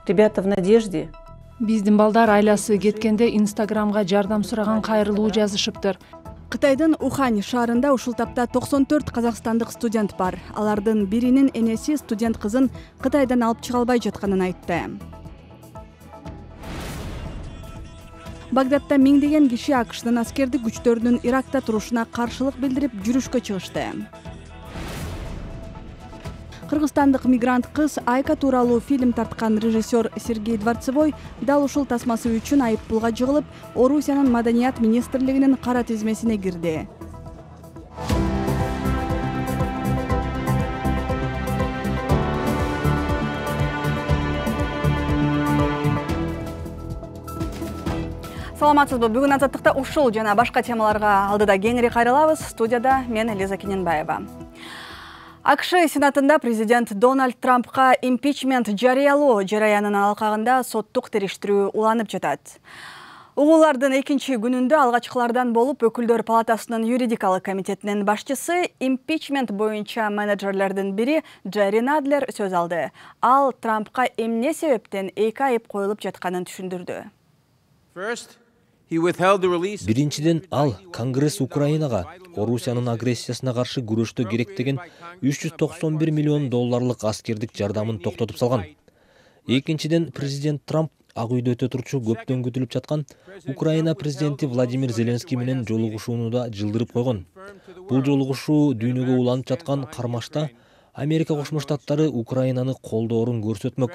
Ребята в надежде. Биздин балдар айласы кеткенде Инстаграмга жардам сураган кайрылуу жазышыптыр. Кытайдын Ухань шаарында ушул тапта 94 казакстандык студент бар. Алардын биринин энеси студент кызын Кытайдан алып чыга албай жатканын айтты. Багдадда миңдеген киши АКШнын аскердик күчтөрүнүн Иракта турушуна каршылык билдирип жүрүшкө чыгышты. Кыргызстандык мигрант кыз Айка тууралуу фильм тарткан режиссер Сергей Дворцевой дал ушул тасмасы үчүн айыппулга жыгылып, Орусиянын Маданият министрлигинин кара тизмесине кирди. Саламатсызбы? Бүгүн Азаттыкта ушул жана башка темаларга алдыда кеңири кайрылабыз. Студияда мен Лиза Кененбаева. АКШ Сенатында президент Дональд Трампка импичмент жарыялоо жараянынын алкагында соттук териштирүү уланып жатат. Угуулардын экинчи күнүндө алгачкылардан болуп Өкүлдөр палатасынын юридикалык комитетинин башчысы импичмент боюнча менеджерлердин бири Джерри Надлер сөз алды. Ал Трампка эмне себептен 2 айып коюлуп жатканын түшүндүрдү. Биринчиден, ал Конгресс Украинага Орусиянын агрессиясына каршы күрөштө керек деген $391 миллион аскердик жардамын токтотуп салган. Экинчиден, президент Трамп Ак үйдө өтө турчу көптөн күтүлүп жаткан Украина президенти Владимир Зеленский менен жолугушууну да жылдырып койгон. Бул жолугушуу дүйнөгө уланып жаткан кармашта Америка Кошмо Штаттары Украинаны колдоорун көрсөтмөк.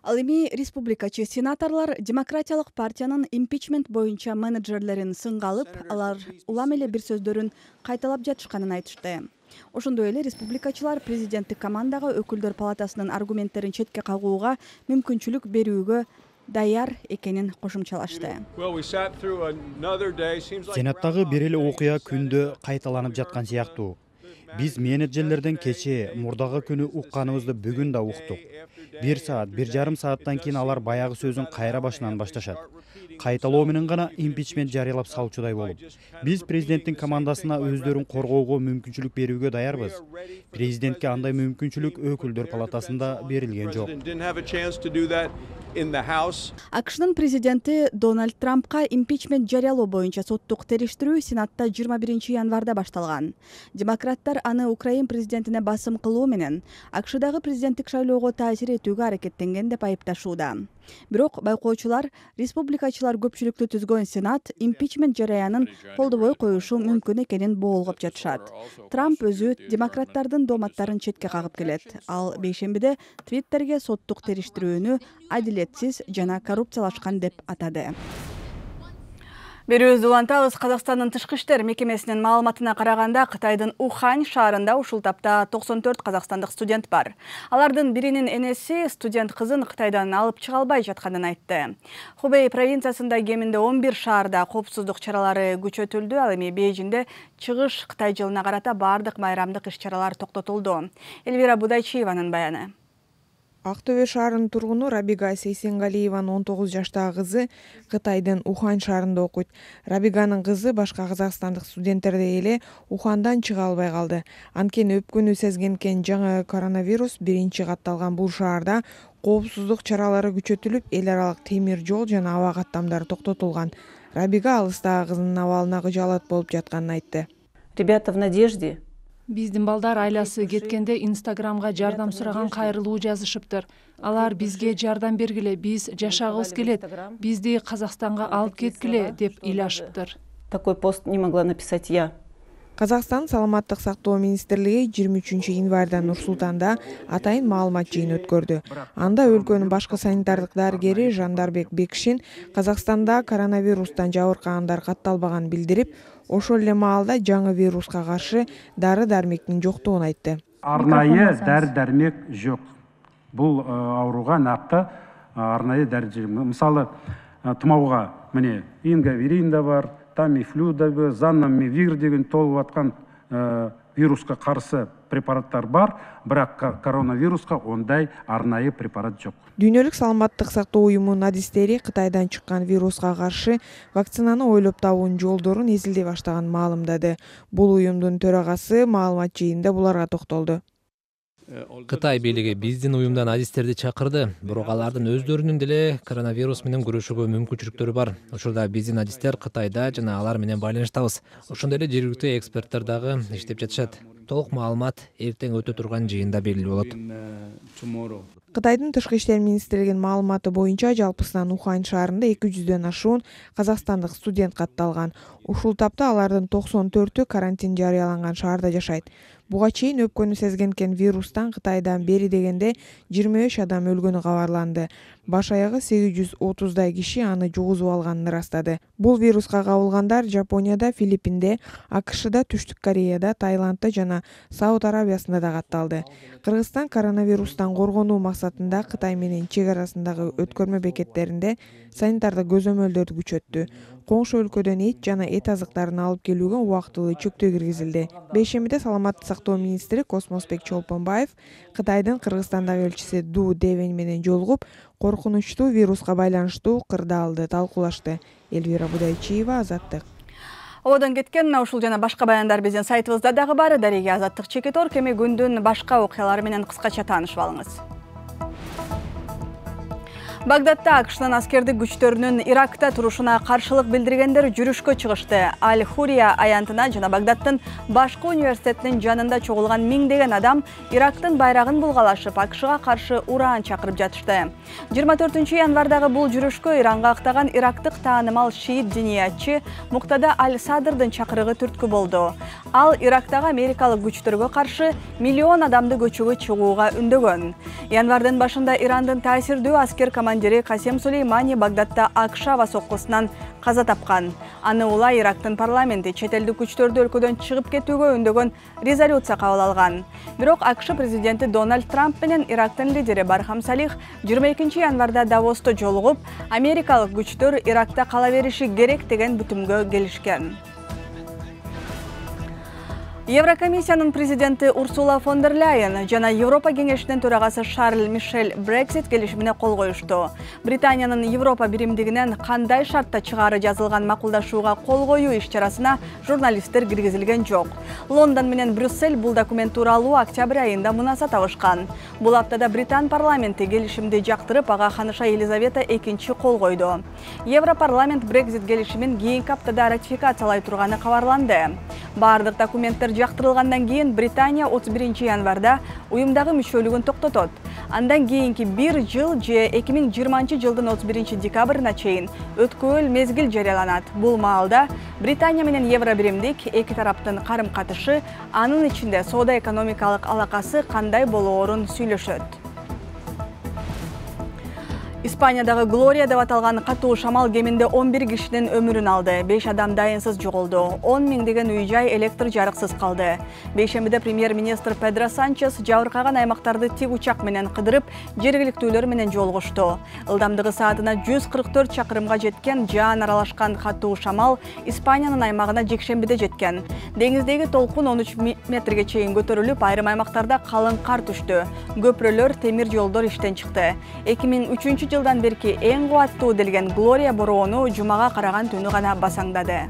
Ал эми республикачы сенаторлор Демократиялык партиянын импичмент боюнча менеджерлерин сынга алып, алар улам эле бир сөздөрүн кайталап жатышканын айтышты. Ошондой эле республикачылар президенттик командага Өкүлдөр палатасынын аргументтерин четке кагууга мүмкүнчүлүк берүүгө даяр экенин кошумчалашты. Сенаттагы бир эле окуя күндө кайталанып жаткан сыяктуу. Биз менеджерлерден кечээ мурдагы күнү укканыбызды бүгүн да уктук. 1 саат, 1,5 сааттан кийин алар баягы сөзүн кайра башынан башташат. Кайталоо менен гана импичмент жарыялап салчудай болуп. Биз президенттин командасына өздөрүн коргоого мүмкүнчүлүк берүүгө даярбыз. Президентке андай мүмкүнчүлүк Өкүлдөр палатасында берилген жок. АКШнын президенти Дональд Трампка импичмент жарыялоо боюнча соттук териштирүү Сенатта 21 январда башталган. Демократтар аны Украин президентине басым кылуу менен АКШдагы президенттик шайлоого таасир этүүгө аракеттенген деп айыпташууда. Бирок байкоочулар республикачылар көпчүлүктү түзгөн Сенат импичмент жараянын колдобой коюшу мүмкүн экенин боолгоп жатышат. Трамп өзү демократтардын дооматтарын четке кагып келет. Ал бейшембиде Твиттерге соттук териштирүүнү адилетсиз жана коррупциялашкан деп атады. Берүүбүздү улантабыз. Казакстандын тышкы иштер мекемесинин маалыматына караганда, Кытайдын Ухань шаарында ушул тапта 94 казакстандык студент бар. Алардын биринин энеси студент кызын Кытайдан алып чыга албай жатканын айтты. Хубэй провинциясында кеминде 11 шаарда коопсуздук чаралары күчөтүлдү. Ал эми Бейжиңде чыгыш Кытай жылына карата бардык майрамдык иш-чаралар токтотулду. Эльвира Будайчиеванын баяны. Ак Төбө шаарынын тургуну Рабига Сейсенгалиеванын 19 жаштагы кызы Кытайдын Ухань шаарында окуйт. Рабиганын кызы башка казакстандык студенттердей эле Ухандан чыга албай калды. Анткени өпкөнү сезген экен жаңы коронавирус биринчи катталган бул шаарда коопсуздук чаралары күчөтүлүп, эл аралык темир жол жана аба каттамдары токтотулган. Рабига алыстагы кызынын абалына кыжаалат болуп жатканын айтты. Ребята в надежде. Биздин балдар айласы кеткенде Инстаграмга жардам сураган кайрылуу жазышыптыр. Алар бизге жардам бергиле, биз жашагыбыз келет, бизди Казакстанга алып кеткиле деп ыйлашыптыр. Такой пост не могла написать я. Казакстан саламаттык сактоо министрлиги 23 январда Нур-Султанда атайын маалымат жыйыны өткөрдү. Анда өлкөнүн башкы санитардык дарыгери Жандарбек Бекшин Казакстанда коронавирустан жабыркагандар катталбаганын билдирип, ошол эле маалда жаңы вируска каршы дары-дармектин жоктугун айтты. Арнайы дары-дармек жок. Бул ооруга накты арнайы дары. Мисалы, тумоого міне ингаверин да бар, тамифлю да бар, занамивир деген толуп аткан вируска каршы препараттар бар, бирок коронавируска ондай арнайы препарат жок. Дүйнөлүк саламаттык сактоо уюмунун адистери Кытайдан чыккан вируска каршы вакцинаны ойлоп табуунун жолдорун изилдей баштаганын маалымдады. Бул уюмдун төрагасы маалымат жыйынында буларга токтолду. Кытай бийлиги биздин уюмдан адистерди чакырды, бирок алардын өздөрүнүн деле коронавирус менен күрөшүүгө мүмкүнчүлүктөрү бар. Учурда биздин адистер Кытайда жана алар менен байланыштабыз. Ошондой эле жергиликтүү эксперттер дагы иштеп жатышат. Толук маалымат эртең өтө турган жыйында белгилүү болот. Кытайдын тышкы иштер министрлигинин маалыматы боюнча жалпысынан Ухань шаарында 200дөн ашуун казакстандык студент катталган. Ушул тапта алардын 94-ү карантин жарыяланган шаарда жашайт. Буга чейин өпкөнү сезген экен вирустан Кытайдан бери дегенде 23 адам өлгөнү кабарланды. Баш аягы 830дай киши аны жугузуп алганын ырастады. Бул вируска кабылгандар Жапонияда, Филиппинде, АКШда, Түштүк Кореяда, Таиландда жана Сауд Арабиясында да катталды. Кыргызстан коронавирустан коргонуу максатында Кытай менен чек арасындагы өткөрмө бекеттеринде санитардык көзөмөлдөрдү күчөттү. Коңшу өлкөдөн эт жана эт азыктарын алып келүүгө убактылуу чектөө киргизилди. Бейшембиде саламаттык сактоо министри Космосбек Чолпонбаев Кытайдын Кыргызстандагы элчиси Ду Девень менен жолугуп, коркунучтуу вируска байланыштуу кырдаалды талкуулашты. Элвира Будайчиева, Азаттык. Ободон кеткен ушул жана башка баяндар биздин сайтыбызда дагы бар. Дареге Азаттык Чекитор кеми күндүн башка окуялары менен кыскача таанышып алыңыз. Багдадда АКШнын аскердик күчтөрүнүн Иракта турушуна каршылык билдиргендер жүрүшкө чыгышты. Аль-Хурия аянтына жана Багдаддын башкы университетинин жанында чогулган миңдеген адам Ирактын байрагын булгалашып, АКШга каршы ураан чакырып жатышты. 24 январдагы бул жүрүшкө Иранга актаган ирактык таанымал шиит диниятчы Муктада Аль-Садрдын чакырыгы түрткү болду. Ал Ирактагы америкалык күчтөргө каршы миллион адамды көчөгө чыгууга үндөгөн. Январдын башында Ирандын таасирдүү аскер командири Касем Сулеймани Багдадда АКШ аба соккусунан каза тапкан. Аны улай Ирактын парламенти чет элдик күчтөрдү өлкөдөн чыгып кетүүгө үндөгөн резолюция кабыл алган. Бирок АКШ президенти Дональд Трамп менен Ирактын лидери Бархам Салих 22 январда Давосто жолугуп, америкалык күчтөр Иракта кала бериши керек деген бүтүмгө келишкен. Еврокомиссиянын президенти Урсула фон дер Ляйен жана Европа кеңешинин төрагасы Шарль Мишель Брексит келишимине кол коюшту. Британиянын Европа биримдигинен кандай шартта чыгаары жазылган макулдашууга кол коюу иш-чарасына журналисттер киргизилген жок. Лондон менен Брюссель бул документ тууралуу октябрь айында мунаса табышкан. Бул аптада Британ парламенти келишимди жактырып, ага ханыша Елизавета II кол койду. Европарламент Брексит келишимин кийинки аптада ратификациялай турганы кабарланды. Бардык документтер жактырылгандан кийин Британия 31 январда уюмдагы мүчөлүгүн токтотот. Андан кийинки 1 жыл же 2020 жылдын 31 декабрына чейин өткөөл мезгил жарыяланат. Бул маалда Британия менен Евро биримдик эки тараптын карым-катышы, анын ичинде соода-экономикалык алакасы кандай болоорун сүйлөшөт. Испаниядагы Глория деп аталган катуу шамал кеминде 11 кишинин өмүрүн алды. 5 адам дайынсыз жоголду. 10 миңдеген үй-жай электр жарыксыз калды. Бейшембиде премьер-министр Педро Санчес жабыркаган аймактарды тик учак менен кыдырып, жергиликтүүлөр менен жолугушту. Ылдамдыгы саатына 144 чакырымга жеткен жаан аралашкан катуу шамал Испаниянын аймагына жекшембиде жеткен. Деңиздеги толкун 13 метрге чейин көтөрүлүп, айрым аймактарда калың кар түштү. Көпүрөлөр, темир жолдор иштен чыкты. 2003 жылдан берки эң кубаттуу делген Глория бороону жумага караган түнү гана басаңдады.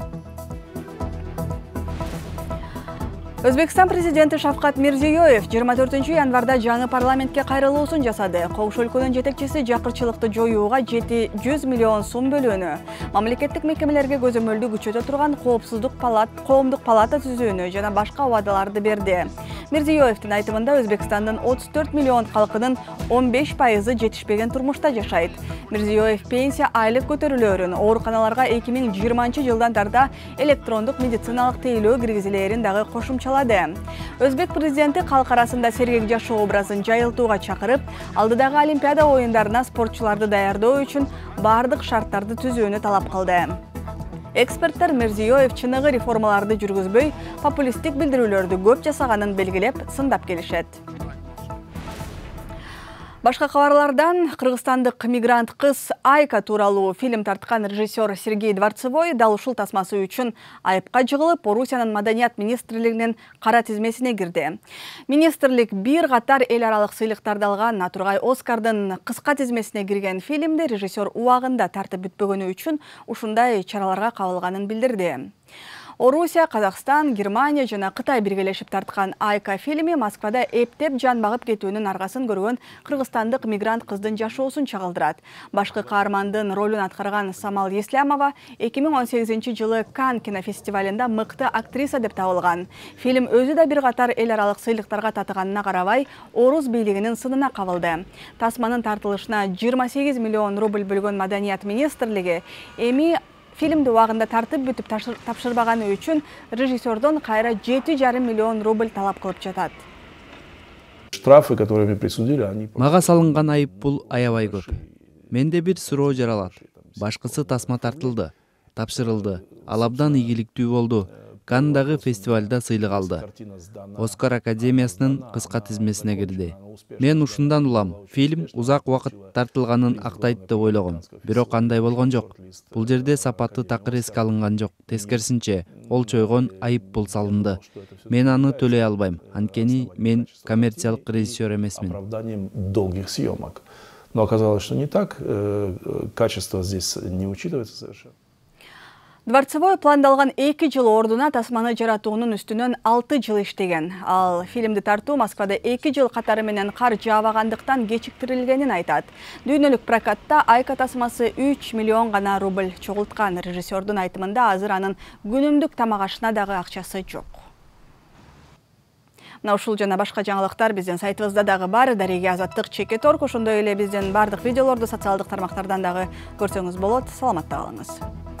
Өзбекстан президенти Шавкат Мирзиёев 24 январда жаңы парламентке кайрылуусун жасады. Коңшу өлкөнүн жетекчиси жакырчылыкты жоюуга 700 миллион сом бөлүүнү, мамлекеттик мекемелерге көзөмөлдү күчөтө турган коомдук палата түзүүнү жана башка убадаларды берди. Мирзиёевдин айтымында Өзбекстандын 34 миллион калкынын 15% жетишпеген турмушта жашайт. Мирзиёев пенсия айлык көтөрүлөөрүн, ооруканаларга 2020 жылдан тарта электрондук медициналык тейлөө киргизилээрин дагы кошумчалады. Өзбек президенти калк арасында сергек жашоо образын жайылтууга чакырып, алдыдагы Олимпиада оюндарына спортчуларды даярдоо үчүн бардык шарттарды түзүүнү талап кылды. Эксперттер Мирзиёев чыныгы реформаларды жүргүзбөй, популисттик билдирүүлөрдү көп жасаганын белгилеп, сындап келишет. Башка кабарлардан кыргызстандык мигрант кыз Айка тууралуу фильм тарткан режиссер Сергей Дворцевой дал ушул тасмасы үчүн айыпка жыгылып, Орусиянын маданият министрлигинин кара тизмесине кирди. Министрлик бир катар эл аралык сыйлыктарды алган, Натургай Оскардын кыска тизмесине кирген фильмде режиссер убагында тартып бүтпөгөнү үчүн ушундай чараларга кабылганын билдирди. Орусия, Казакстан, Германия жана Кытай биргелешип тарткан Айка фильми Москвада эптеп жан багып кетүүнүн аргасын көргөн кыргызстандык мигрант кыздын жашоосун чагылдырат. Башкы каармандын ролун аткарган Самал Еслямова 2018-жылы Канн кинофестивалында мыкты актриса деп табылган. Фильм өзү да бир катар эл аралык сыйлыктарга татыганына карабай, орус бийлигинин сынына кабылды. Тасманын тартылышына 28 миллион рубль бөлгөн Маданият министрлиги эми фильмди убагында тартып бүтүп тапшырбаганы үчүн режиссердон кайра 7,5 миллион рубль талап кылып жатат. Штрафы, которые мне присудили, они... Мага салынган айыппул аябай көп. Менде бир суроо жаралат. Башкысы тасма тартылды, тапшырылды. Ал абдан ийгиликтүү болду. Канндагы фестивалда сыйлык алды. Оскар академиясынын кыска тизмесине кирди. Мен ушундан улам. Фильм узак убакыт тартылганын актайт деп ойлогом. Бирок андай болгон жок. Бул жерде сапаттуу такыр эске алынган жок. Тескерисинче, ол чойгон айыппул салынды. Мен аны төлөй албайм. Анткени мен коммерциялык режиссер эмесмин. Оправданием долгих съемок. Но оказалось, что не так. Качество здесь не учитывается совершенно. Дворцевой пландалган 2 жыл ордуна тасманы жаратуунун үстүнөн 6 жыл иштеген. Ал фильмди тартуу Москвада 2 жыл катары менен кар жаабагандыктан кечиктирилгенин айтат. Дүйнөлүк прокатта Айка тасмасы 3 миллион гана рубль чогулткан. Режиссердун айтымында азыр анын күнүмдүк тамак ашына дагы акчасы жок. Мына ушул жана башка жаңылыктар биздин сайтыбызда дагы бар. Дареге Азаттык Чекет.org, ошондой эле биздин бардык видеолорду социалдык тармактардан дагы көрсөңүз болот. Саламатта калыңыз.